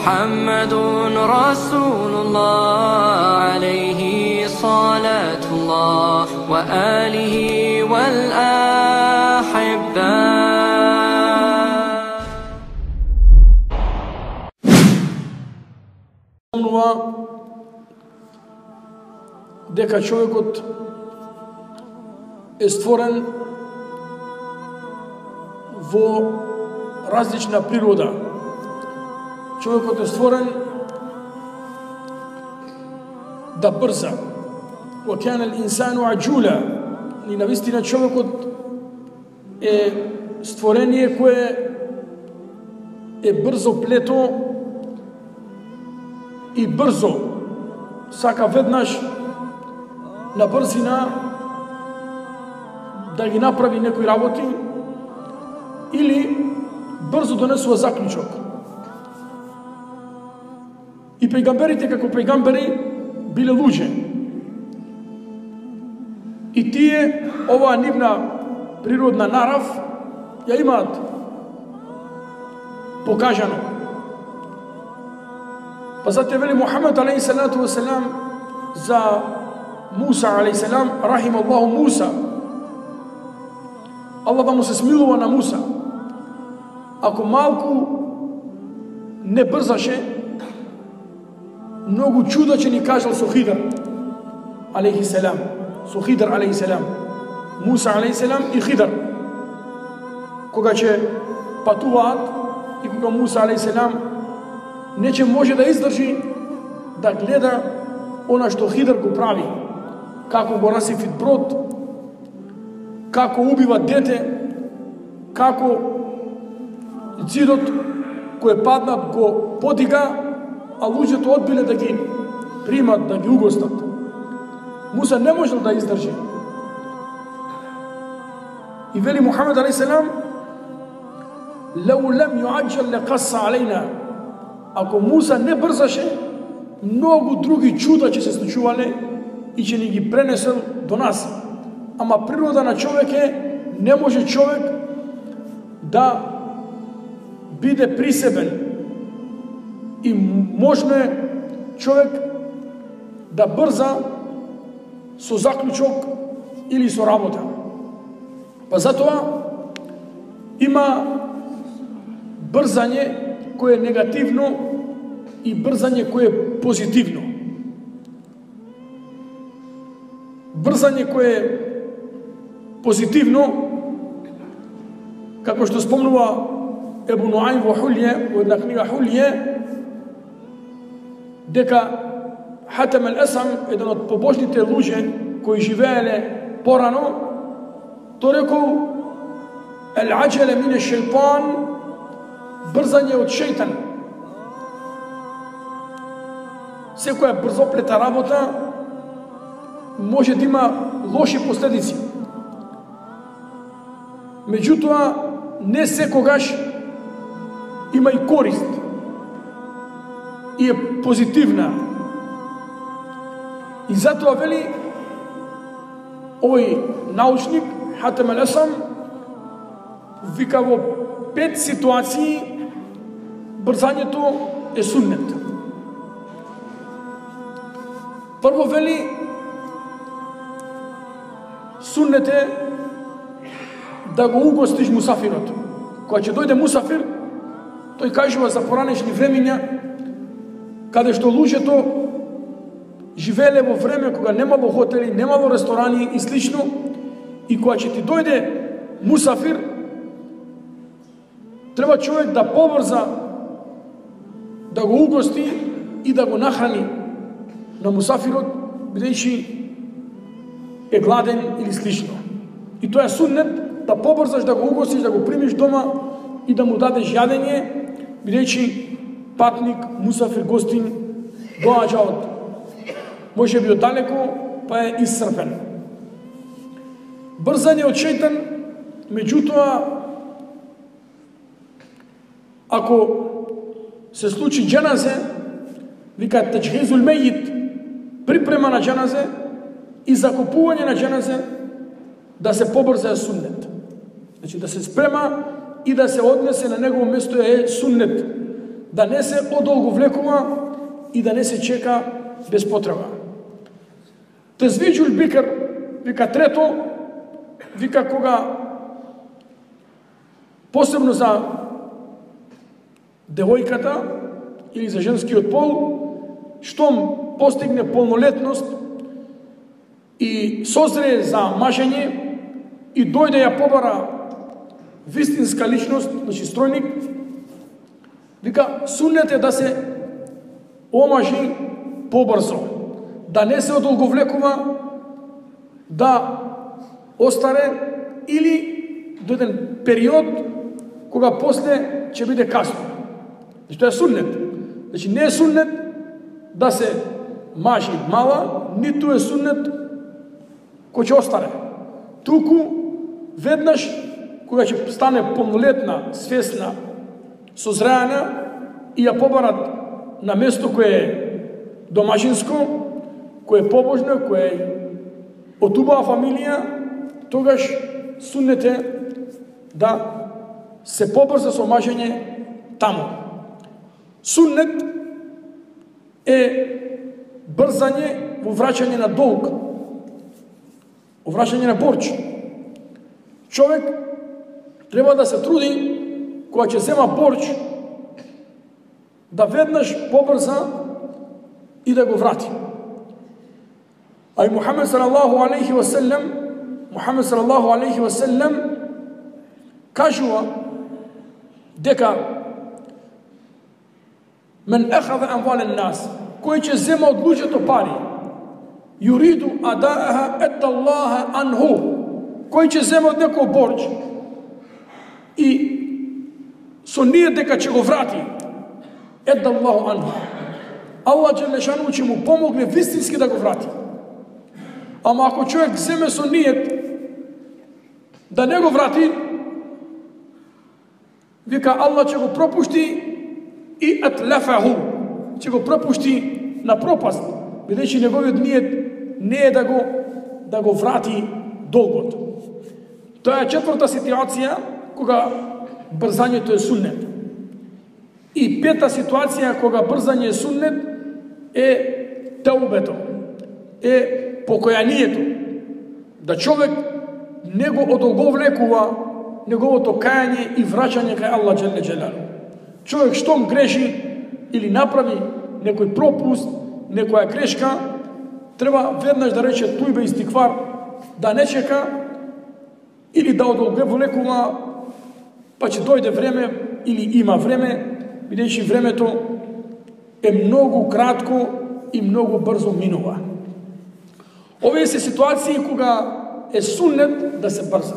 محمد رسول الله عليه صلاة الله وآله والأحبة. Дека човекот е створен во различна природа. Човекот е створен да брза. Wa kana al-insanu ajula. И навистина човекот е створение кое е брзо плето и брзо сака веднаш на брзина да ги направи некои работи или брзо донесува заклучок. И пејгамберите како пејгамбери биле луѓе. И тие оваа нивна природна нарав ја имаат покажано. Па затоа вели Мухамед алейхи салату ва селам за Муса алейхи салам, рахим Аллаху Муса. Аллах да му се смилува на Муса. Ако малку не брзаше, многу чуда че ни кажал со Хидр алейхи салам. Со Хидр алейхи салам. Муса алейхи салам и Хидр. Кога ќе патуваат и кога Муса алейхи салам нече може да издржи да гледа она што Хидр го прави. Како го расифит брод, како убива дете, како ѕидот кој паднат го подига, а луѓето одбиле да ги примат, да ги угостат. Муса не можел да издржи. И вели Мухамед алейхи салам: "Лау лам юаджал лaqassa алейна." Ако Муса не брзаше, многу други чуда ќе се случувале и ќе ни ги пренесел до нас. Ама природа на човек е, не може човек да биде присебен. И можно е човек да брза со заклучок или со работа. Па затоа има брзање кое е негативно и брзање кое е позитивно. Брзање кое е позитивно, како што спомнува Ебу Нуајм во Хулје, во една книга Хулје, дека Хатам ал-Асам, еден од побожните луѓе кои живееле порано, тој рекол: "Ал-аџале мин аш-шејтан", брзање од шејтан. Секоја брзоплета работа може да има лоши последици. Меѓутоа, не секогаш има и корист и е позитивна. И затоа вели овој научник Хатам ал-Асам, вика во 5 ситуации брзањето е суннет. Прво вели суннет е да го угостиш мусафирот. Кога ќе дојде мусафир, тој кажува за поранешни времиња, каде што луѓето живееле во време кога немало хотели, немало ресторани и слично, и кога ќе ти дојде мусафир, треба човек да побрза да го угости и да го нахрани на мусафирот, бидејќи е гладен или слично. И тоа е суннет, да побрзаш да го угостиш, да го примиш дома и да му дадеш јадење, бидејќи патник, мусафир, гостин доаѓа од може би од далеко, па е исцрпен. Брзање од шејтан, меѓутоа, ако се случи џаназе, вика таџхизул мејит, припрема на џаназе и закупување на џаназе, да се побрза е суннет. Значи да се спрема и да се однесе на негово место е суннет. да не се одолговлекува и да не се чека без потреба. Тезвиджул бикр, вика трето, вика кога посебно за девојката или за женскиот пол, штом постигне полнолетност и созрее за мажење и дојде ја побара вистинска личност, значи стројник, вика суннет е да се омажи побрзо, да не се одолговлекува, да остаре или до еден период кога после ќе биде касно. Значи тоа е суннет. Значи не е суннет да се мажи мала, ниту е суннет кој ќе остаре. Туку веднаш кога ќе стане полнолетна, свесна, созреана и ја побарат на место кое е домашинско, кое е побожно, кое е од убава фамилија, тогаш суннет е да се побрза со мажење таму. Суннет е брзање во враќање на долг, во враќање на борч. Човек треба да се труди кога ќе зема борч да веднаш побрза и да го врати. А и Мухамед салаллаху алейхи ва селем кажува дека мен ахаза амвален нас, кој ќе зема од луѓето пари, юриду адааха еддаллаха анху, кој ќе зема од некој борч и со ние дека ќе го врати, еддаллаху анху, Аллах джелешану ќе му помогне вистински да го врати. Ама ако човек земе со ниет да не го врати, вика Аллах ќе го пропушти и атлафаху, ќе го пропушти на пропаст, бидејќи неговиот ниет не е да го врати долгот. Тоа е четврта ситуација кога брзањето е суннет. И пета ситуација кога брзање е суннет е теубето, е покојанието. Да човек не го одолговлекува неговото кајање и враќање кај Аллах джеле джелалу. Човек штом греши или направи некој пропуст, некоја грешка, треба веднаш да рече тујбе истиквар, да не чека или да одолговлекува, па ќе дојде време или има време, бидејќи времето е многу кратко и многу брзо минува. Овие се ситуации кога е суннет да се брза.